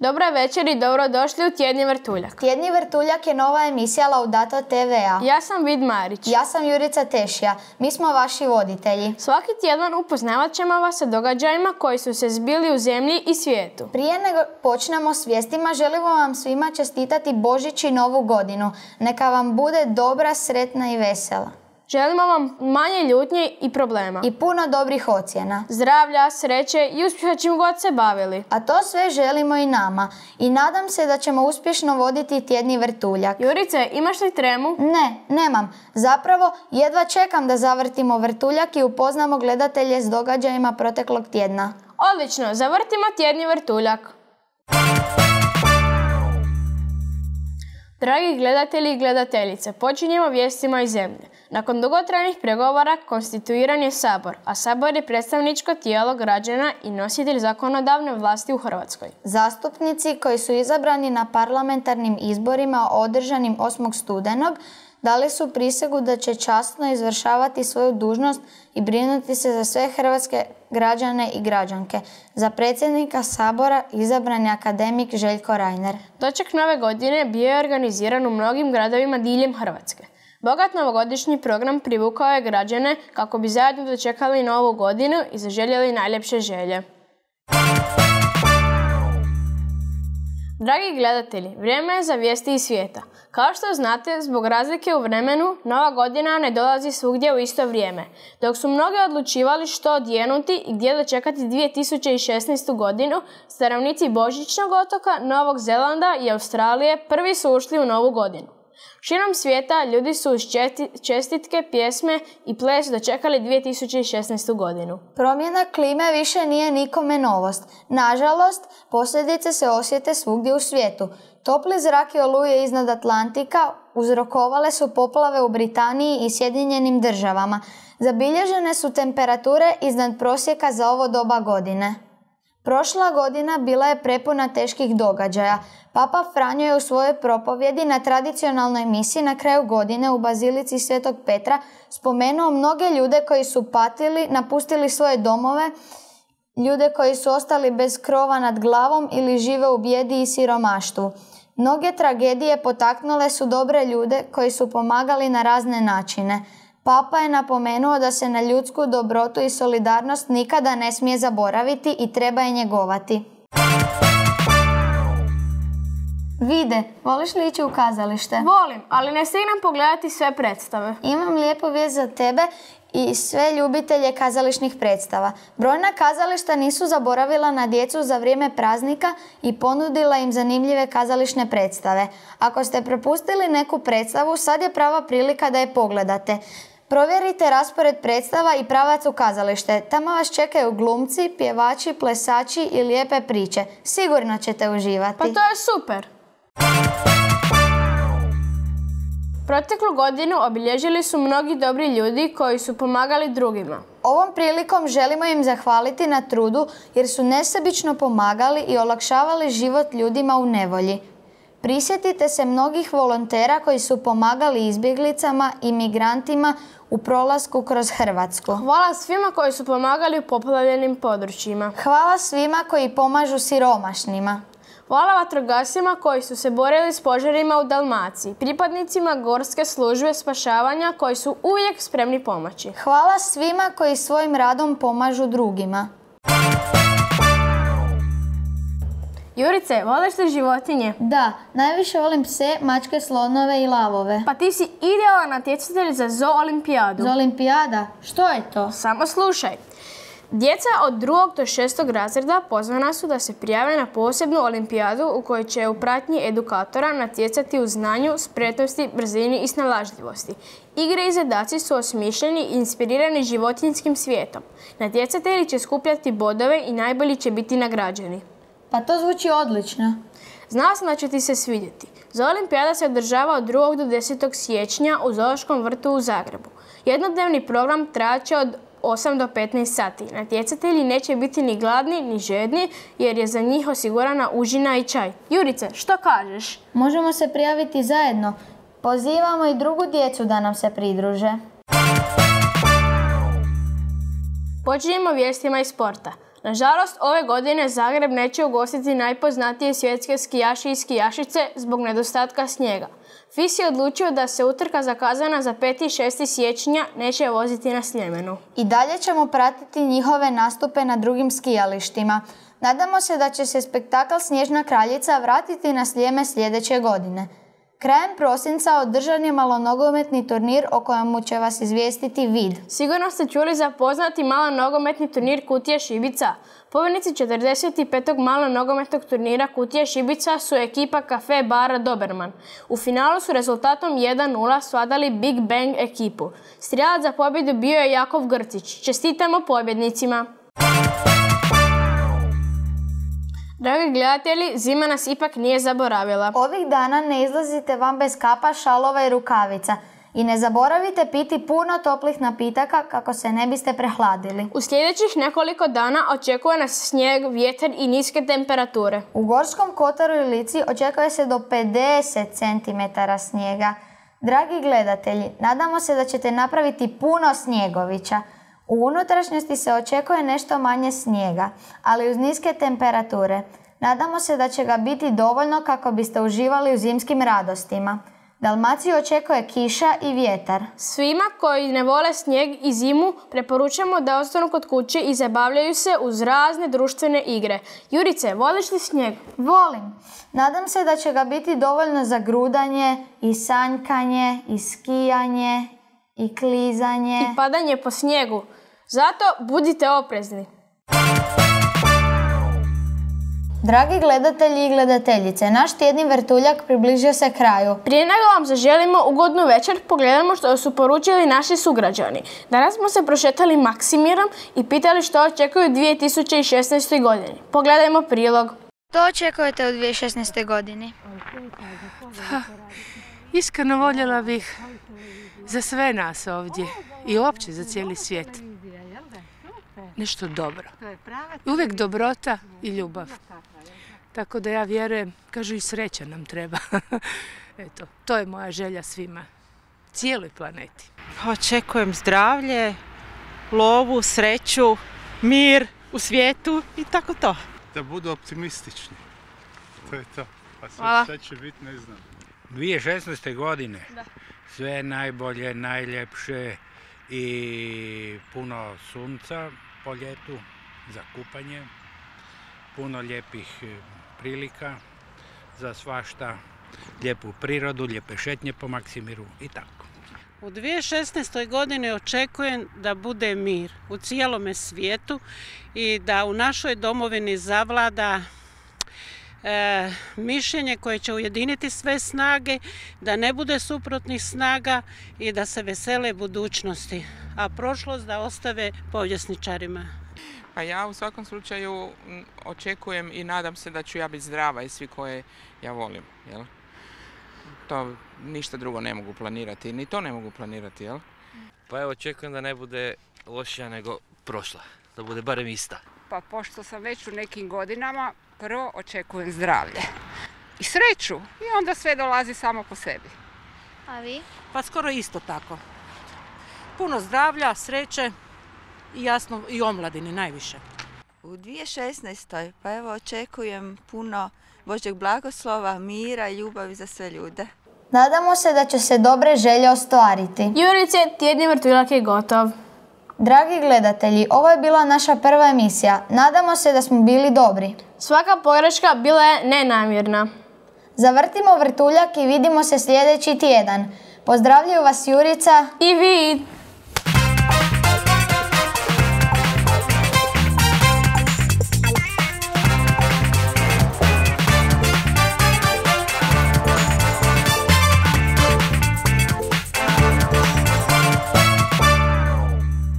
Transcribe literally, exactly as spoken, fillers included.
Dobra večer i dobrodošli u Tjedni vrtuljak. Tjedni vrtuljak je nova emisija Laudato te ve a. Ja sam Vid Marić. Ja sam Jurica Tešija. Mi smo vaši voditelji. Svaki tjedan upoznavat ćemo vas sa događajima koji su se zbili u zemlji i svijetu. Prije nego počnemo s vijestima, želimo vam svima čestitati Božić i Novu godinu. Neka vam bude dobra, sretna i vesela. Želimo vam manje ljutnje i problema. I puno dobrih ocjena. Zdravlja, sreće i uspjeha čim god se bavili. A to sve želimo i nama. I nadam se da ćemo uspješno voditi Tjedni vrtuljak. Jurice, imaš li tremu? Ne, nemam. Zapravo, jedva čekam da zavrtimo vrtuljak i upoznamo gledatelje s događajima proteklog tjedna. Odlično, zavrtimo Tjedni vrtuljak. Dragi gledatelji i gledateljice, počinjemo vijestima iz zemlje. Nakon dugotrajnih pregovora konstituiran je Sabor, a Sabor je predstavničko tijelo građana i nositelj zakonodavne vlasti u Hrvatskoj. Zastupnici koji su izabrani na parlamentarnim izborima održanim osmog studenog dali su prisegu da će časno izvršavati svoju dužnost i brinuti se za sve hrvatske građane i građanke. Za predsjednika Sabora izabran je akademik Željko Reiner. Doček nove godine bio je organiziran u mnogim gradovima diljem Hrvatske. Bogat novogodišnji program privukao je građane kako bi zajedno dočekali novu godinu i zaželjeli najljepše želje. Dragi gledatelji, vrijeme je za vijesti iz svijeta. Kao što znate, zbog razlike u vremenu, Nova godina ne dolazi svugdje u isto vrijeme. Dok su mnogi odlučivali što odjenuti i gdje dočekati dvije tisuće šesnaestu godinu, stanovnici Božićnog otoka, Novog Zelanda i Australije prvi su ušli u Novu godinu. Širom svijeta ljudi su uz čestitke, pjesme i ples dočekali dvije tisuće šesnaestu godinu. Promjena klime više nije nikome novost. Nažalost, posljedice se osjete svugdje u svijetu. Topli zrak i oluje iznad Atlantika uzrokovale su poplave u Britaniji i Sjedinjenim državama. Zabilježene su temperature iznad prosjeka za ovo doba godine. Prošla godina bila je prepuna teških događaja. Papa Franjo je u svojoj propovjedi na tradicionalnoj misi na kraju godine u Bazilici Svetog Petra spomenuo mnoge ljude koji su patili, napustili svoje domove, ljude koji su ostali bez krova nad glavom ili žive u bijedi i siromaštvu. Mnoge tragedije potaknule su dobre ljude koji su pomagali na razne načine. Papa je napomenuo da se na ljudsku dobrotu i solidarnost nikada ne smije zaboraviti i treba je njegovati. Vide, voliš li ići u kazalište? Volim, ali ne stignem pogledati sve predstave. Imam lijepu vijest za tebe i sve ljubitelje kazališnih predstava. Brojna kazališta nisu zaboravila na djecu za vrijeme praznika i ponudila im zanimljive kazališne predstave. Ako ste propustili neku predstavu, sad je prava prilika da je pogledate. Provjerite raspored predstava i pravac u kazalište. Tamo vas čekaju glumci, pjevači, plesači i lijepe priče. Sigurno ćete uživati. Pa to je super! Proteklu godinu obilježili su mnogi dobri ljudi koji su pomagali drugima. Ovom prilikom želimo im zahvaliti na trudu jer su nesebično pomagali i olakšavali život ljudima u nevolji. Prisjetite se mnogih volontera koji su pomagali izbjeglicama i migrantima u prolasku kroz Hrvatsku. Hvala svima koji su pomagali u poplavljenim područjima. Hvala svima koji pomažu siromašnima. Hvala vatrogascima koji su se borili s požarima u Dalmaciji, pripadnicima Gorske službe spašavanja koji su uvijek spremni pomoći. Hvala svima koji svojim radom pomažu drugima. Jurice, voliš li životinje? Da, najviše volim pse, mačke, slonove i lavove. Pa ti si idealan natjecatelj za zoo olimpijadu. Za olimpijada? Što je to? Samo slušaj. Djeca od drugog do šestog razreda pozvana su da se prijave na posebnu olimpijadu u kojoj će u pratnji edukatora natjecati u znanju, spretnosti, brzini i snalažljivosti. Igre i zadaci su osmišljeni i inspirirani životinjskim svijetom. Natjecatelji će skupljati bodove i najbolji će biti nagrađeni. Pa to zvuči odlično. Znala sam da će ti se svidjeti. Zoo olimpijada se održava od drugog do desetog siječnja u Zoološkom vrtu u Zagrebu. Jednodnevni program trajat će od osam do petnaest sati. Natjecatelji neće biti ni gladni ni žedni jer je za njih osigurana užina i čaj. Jurice, što kažeš? Možemo se prijaviti zajedno. Pozivamo i drugu djecu da nam se pridruže. Počinjemo vijestima iz sporta. Nažalost, ove godine Zagreb neće ugostiti najpoznatije svjetske skijaše i skijašice zbog nedostatka snijega. F I S je odlučio da se utrka zakazana za peti i šesti siječnja neće voziti na Sljemenu. I dalje ćemo pratiti njihove nastupe na drugim skijalištima. Nadamo se da će se spektakl Snježna kraljica vratiti na Sljeme sljedeće godine. Krajem prosinca održan je malonogometni turnir o kojemu će vas izvijestiti Vid. Sigurno ste čuli za poznati malonogometni turnir Kutije Šibica. Pobjednici četrdeset petog malonogometnog turnira Kutije Šibica su ekipa Kafe bara Doberman. U finalu su rezultatom jedan nula svladali Big Bang ekipu. Strijelac za pobjedu bio je Jakov Grcić. Čestitamo pobjednicima! Dragi gledatelji, zima nas ipak nije zaboravila. Ovih dana ne izlazite van bez kapa, šalova i rukavica. I ne zaboravite piti puno toplih napitaka kako se ne biste prehladili. U sljedećih nekoliko dana očekuje nas snijeg, vjetar i niske temperature. U Gorskom kotaru i Lici očekuje se do pedeset centimetara snijega. Dragi gledatelji, nadamo se da ćete napraviti puno snjegovića. U unutrašnjosti se očekuje nešto manje snijega, ali uz niske temperature. Nadamo se da će ga biti dovoljno kako biste uživali u zimskim radostima. Dalmaciju očekuje kiša i vjetar. Svima koji ne vole snijeg i zimu preporučamo da ostanu kod kuće i zabavljaju se uz razne društvene igre. Jurice, voliš li snijeg? Volim. Nadam se da će ga biti dovoljno za grudanje i sanjkanje i skijanje i klizanje. I padanje po snijegu. Zato budite oprezni. Dragi gledatelji i gledateljice, naš tjedni vrtuljak približio se kraju. Prije nego vam zaželimo ugodnu večer, pogledamo što su poručili naši sugrađani. Danas smo se prošetali Maksimirom i pitali što očekuju u dvije tisuće šesnaestoj godini. Pogledajmo prilog. Što očekujete u dvije tisuće šesnaestoj godini? Ha, iskreno voljela bih za sve nas ovdje i uopće za cijeli svijet nešto dobro. Uvijek dobrota i ljubav. Tako da ja vjerujem, kažu i sreća nam treba. Eto, to je moja želja svima, cijeloj planeti. Očekujem zdravlje, lovu, sreću, mir u svijetu i tako to. Da budu optimistični. To je to. A Hvala. sve će biti, ne znam. dvije tisuće šesnaeste. godine. Da. Sve najbolje, najljepše i puno sunca po ljetu za kupanje. Puno lijepih prilika za svašta. Lijepu prirodu, lijepe šetnje po Maksimiru i tako. U dvije tisuće šesnaestoj. godini očekujem da bude mir u cijelome svijetu i da u našoj domovini zavlada e, mišljenje koje će ujediniti sve snage, da ne bude suprotnih snaga i da se vesele budućnosti, a prošlost da ostave povjesničarima. Pa ja u svakom slučaju očekujem i nadam se da ću ja biti zdrava i svi koje ja volim, jel? To ništa drugo ne mogu planirati, ni to ne mogu planirati, jel? Pa evo, očekujem da ne bude lošija nego prošla, da bude barem ista. Pa pošto sam već u nekim godinama, prvo očekujem zdravlje i sreću i onda sve dolazi samo po sebi. A vi? Pa skoro isto tako. Puno zdravlja, sreće i jasno i omladini najviše. U dvije tisuće šesnaestoj. pa evo očekujem puno Božjeg blagoslova, mira i ljubavi za sve ljude. Nadamo se da će se dobre želje ostvariti. Jurice, tjedni vrtuljak je gotov. Dragi gledatelji, ovo je bila naša prva emisija. Nadamo se da smo bili dobri. Svaka pogreška bila je nenamjerna. Zavrtimo vrtuljak i vidimo se sljedeći tjedan. Pozdravljaju vas Jurica i Vid.